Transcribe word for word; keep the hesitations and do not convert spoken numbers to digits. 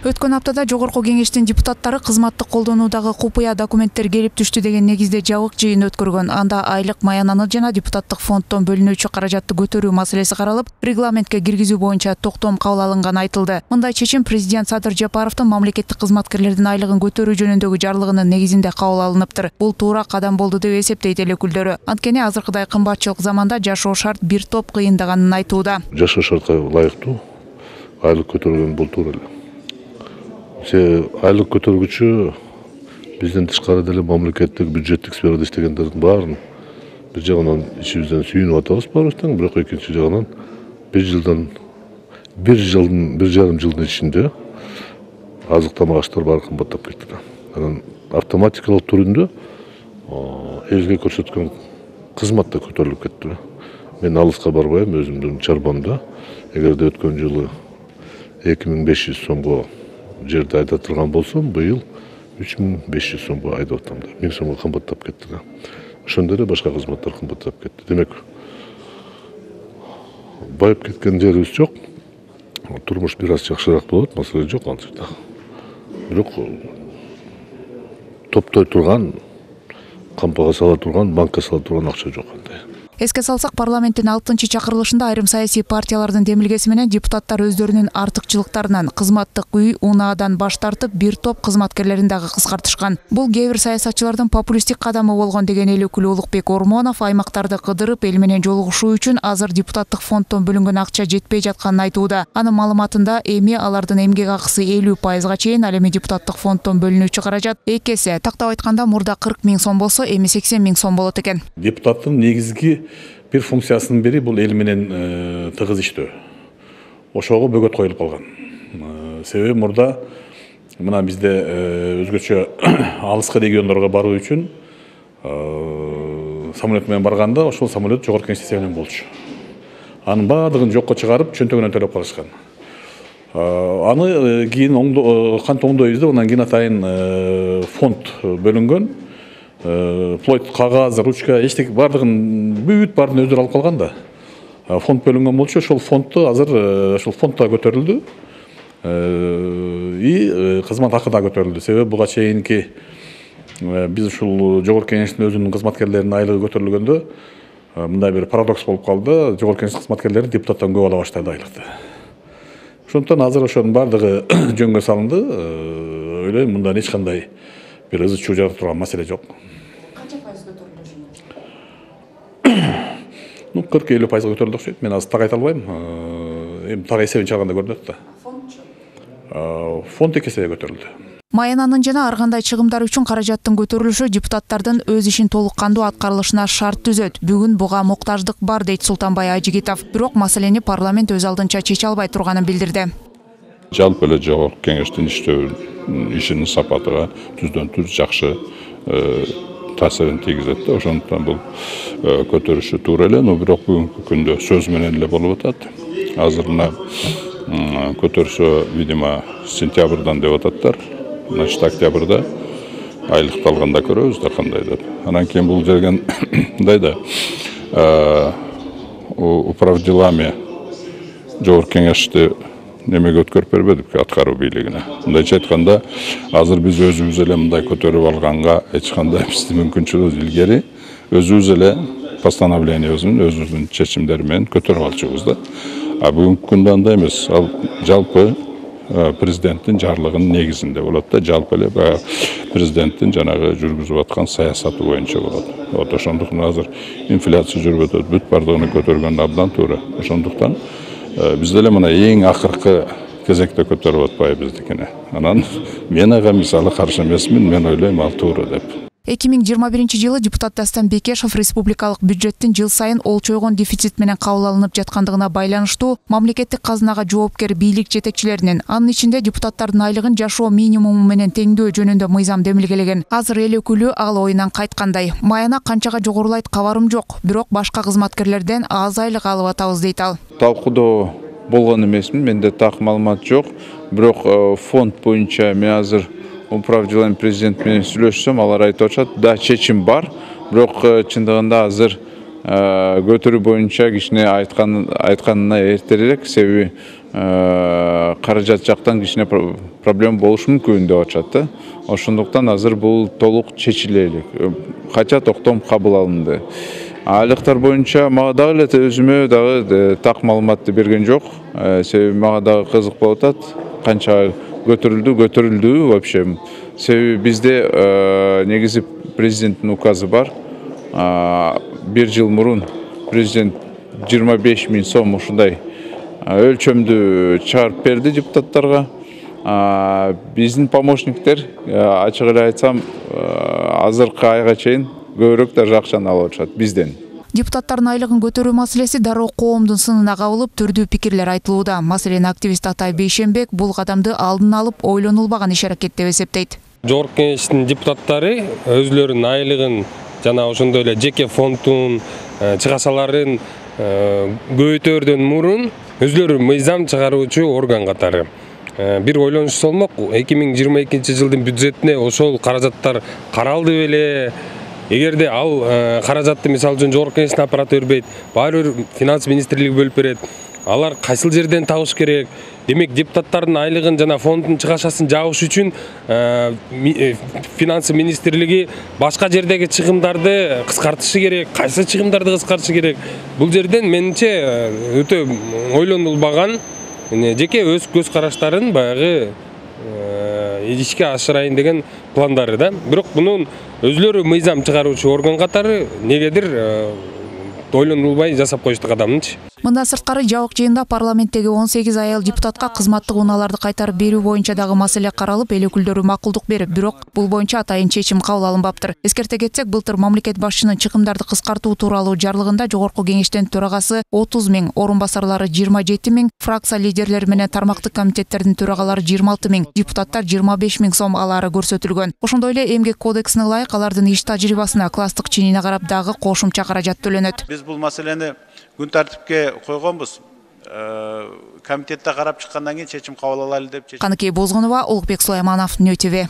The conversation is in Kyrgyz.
Өткөн аптада жогорку кеңештин депутаттары кызматтык колдонуудагы купуя документтер келип түштү деген негизде жабык жыйын өткөргөн. Анда айлык маянаны жана депутаттык фонддон бөлүнүүчү каражатты көтөрүү маселеси каралып, регламентке киргизүү боюнча токтом кабыл алынганы айтылды. Мындай чечим президент Садыр Жапаровдун мамлекеттик кызматкерлердин айлыгын көтөрүү жөнүндөгү жарлыгынын негизинде кабыл алыныптыр. Бул туура кадам болду деп эсептейт эл өкүлдөрү. Анткени азыркыдай кымбатчылык заманда жашоо шарт бир топ кыйындаганын айтууда. Жашоо шартка ылайыктуу айлык көтөргөн бул туура эле. Айлык көтөргүчү бизден тышкары деле мамлекеттик бюджеттик сферада иштегендердин баарын бир жагынан ичибизден сүйүнүп атабыз баарыбыздан, бирок экинчи жагынан бир жылдан бир жылдын бир жарым жылдын ичинде азык тамак аштар баары кымбаттап кетти. Анан автоматикалык түрүндө элге көрсөткөн кызмат да көтөрүлүп кетти. Мен алыска барбайм, өзүмдүн чарбамда эгерде өткөн жылы эки миң беш жүз сомго жерде айдап турган болсом, быйыл үч миң беш жүз сомго айдап атам да. миң сомго кымбаттап кетти да. Ошондой эле башка кызматтар кымбаттап кетти. Демек, байып кеткен жерибиз жок. Турмуш бир аз жакшыраак болот, маселе жок ал жерде. Бирок топтой турган, кампага сала турган, банкка сала турган акча жок андай. Эске салсак, парламенттин алтынчы чакырылышында айрым саясий партиялардын демилгеси менен депутаттар өздөрүнүн артыкчылыктарынан кызматтык үй, унаадан баш тартып, бир топ кызматкерлерин дагы кыскартышкан. Бул кээ бир саясатчылардын популисттик кадамы болгон деген эл өкүлү Улукбек Ормонов аймактарды кыдырып, эл менен жолугушуу үчүн азыр депутаттык фонддон бөлүнгөн акча жетпей жатканын айтууда. Анын маалыматында эми алардын эмгек акысы элүү пайызга чейин, ал эми депутаттык фонддон бөлүнүүчү каражат эки эсе. Тактап айтканда, мурда кырк миң сом болсо, эми сексен миң сом болот экен. Депутаттын негизги бир функциясынын бири бул эл менен тыгыз иштөө. Ошого бөгөт коюлуп калган. Себеби мурда мына бизде өзгөчө алыска региондорго баруу үчүн самолет менен барганда ошол самолет жогорку кеңеш эсебинен болчу. Анын баардыгын жокко чыгарып, чөнтөгүнөн төлөп калышкан. Аны кийин кантип оңдойбуз деп, анан кийин атайын фонд бөлүнгөн. Вплоть кагаз, ручка, эчтеке бардыгын бүт баарын өздөрү алып калган да. Фонд бөлүнгөн болчу, ошол фондду азыр ошол фондда көтөрүлдү. И кызмат акы да көтөрүлдү. Себеби буга чейинки биз ушул жогорку кеңештин өзүнүн кызматкерлеринин айлыгы көтөрүлгөндө мындай бир парадокс болуп калды. Жогорку кеңеш кызматкерлери депутаттан көп ала баштады айлыкты. Ошондуктан азыр ошонун бардыгы жөнгө салынды. Ойлойм, мындан эч кандай бир ызы чуу жарата турган маселе жок. Ну, кырк элүү пайызга көтөрүлдү окшойт. Мен азыр так айта албайм. Эми так эсебин чыгарганда көрүнөт да. Фондчу? Фонд эки эсеге көтөрүлдү. Маянанын жана ар кандай чыгымдар үчүн каражаттын көтөрүлүшү депутаттардын өз ишин толук кандуу аткарылышына шарт түзөт. Бүгүн буга муктаждык бар, дейт Султанбай Ажигитов. Бирок маселени парламент өз алдынча чече албай турганын билдирди. Жалпы эле жогорку кеңештин иштөө ишинин сапатыга түздөн түз жакшы таасирин тийгизет да. Ошондуктан бул көтөрүшү туура эле, но бирок бүгүнкү күндө сөз менен эле болуп атат. Азыр мына көтөрүшү, видимо, сентябрдан деп ататтар. Значит, октябрда айлыкты алганда көрөбүз да кандай деп. Анан кийин бул жерген мындай да управ делами жогорку кеңешти немеге өткөрүп бербедик, аткаруу бийлигине. Мындайча айтканда, азыр биз өзүбүз эле мындай көтөрүп алганга эч кандай биздин мүмкүнчүлүгүбүз илгери өзүбүз эле постановлениябыздын, өзүбүздүн чечимдери менен көтөрүп алчубуз да. А бүгүнкү күндө андай эмес. Ал жалпы президенттин жарлыгынын негизинде болот да, жалпы эле президенттин жанагы жүргүзүп аткан саясаты боюнча болот. Вот ошондуктан азыр инфляция жүрүп атат, бүт бардыгын көтөргөн абдан туура. Ошондуктан бизде эле мына эң акыркы кезекте көтөрүп атпайбыздыкыны. Анан мен ага мисалы каршы эмесмин, мен ойлойм ал туура деп. эки миң жыйырма биринчи жылы депутат Дастан Бекешев республикалык бюджеттин жыл сайын олчойгон дефицит менен кабыл алынып жаткандыгына байланыштуу мамлекеттик казынага жоопкер бийлик жетекчилеринин, анын ичинде депутаттардын айлыгын жашоо минимуму менен теңдөө жөнүндө мыйзам демилгелеген. Азыр эл өкүлү ал оюнан кайткандай. Маяна канчага жогорулайт кабарым жок, бирок башка кызматкерлерден аз айлык алып атабыз дейт ал. Талкуудоо болгон эмесмин, менде так маалымат жок, бирок фонд боюнча мен азыр управ делами президент менен сүйлөшсөм, алар айтып атышат, да, чечим бар, бирок чындыгында азыр көтөрүү боюнча кичине айтканына эртерээк, себеби каражат жактан кичине проблема болушу мүмкүн деп атышат да. Ошондуктан азыр бул толук чечиле элек. Кача токтом кабыл алынды. Айлыктар боюнча мага дагы эле өзүмө дагы так маалыматты берген жок. Себеби мага дагы кызык болуп атат. Канча көтөрүлдү, көтөрүлдүбү вообще. Себеби бизде негизи президенттин указы бар. Бир жыл мурун президент жыйырма беш миң сом ушундай өлчөмдү чыгарып берди депутаттарга. Биздин помощниктер, ачык эле айтсам, азыркы айга чейин көбүрөөк даже акчаны алып атышат бизден. Депутаттардын айлыгын көтөрүү маселеси дароо коомдун сынына кабылып, түрдүү пикирлер айтылууда. Маселен, активист Атай Бейшенбек бул кадамды алдын алып ойлонулбаган иш-аракет деп эсептейт. Жогорку Кеңештин депутаттары өзлөрүнүн айлыгын жана ошондой эле жеке фонддун чыгашаларын көбөйтөрдөн мурун өзлөрү мыйзам чыгаруучу орган катары бир ойлонуш болмок. эки миң жыйырма экинчи жылдын бюджетине ошол каражаттар каралды беле? Эгерде ал каражатты мисалы үчүн Жогорку Кеңештин аппараты бербейт, баары бир финанс министрлиги бөлүп берет. Алар кайсыл жерден табыш керек? Демек, депутаттардын айлыгын жана фонддун чыгашасын жабыш үчүн финанс министрлиги башка жердеги чыгымдарды кыскартышы керек. Кайсы чыгымдарды кыскартышы керек? Бул жерден менимче өтө ойлонулбаган жеке өз көз караштарын баягы ишке ашырайын деген пландары да. Бирок мунун өзлөрү мыйзам чыгаруучу орган катары негедир ойлонулбай жасап коюшту кадамынчы. Мындан сырткары жабык жыйында парламенттеги он сегиз аял депутатка кызматтык унааларды кайтарып берүү боюнча дагы маселе каралып, эл өкүлдөрү макулдук берип, бирок бул боюнча атайын чечим кабыл алынбаптыр. Эскерте кетсек, былтыр мамлекет башчынын чыгымдарды кыскартуу тууралуу жарлыгында Жогорку Кеңештин төрагасы отуз миң, орун басарлары жыйырма жети миң, фракция лидерлери менен тармактык комитеттердин төрагалары жыйырма алты миң, депутаттар жыйырма беш миң сом алаары көрсөтүлгөн. Ошондой эле эмгек кодексине ылайык алардын иш тажрыйбасына, класстык чинине карап дагы кошумча каражат төлөнөт. Биз бул маселени күн тартипке койгонбуз. Комитетте карап чыккандан кийин чечим кабыл алалы деп. Каныкей Бозгунова, Улукбек Сулайманов, Нö тэ вэ.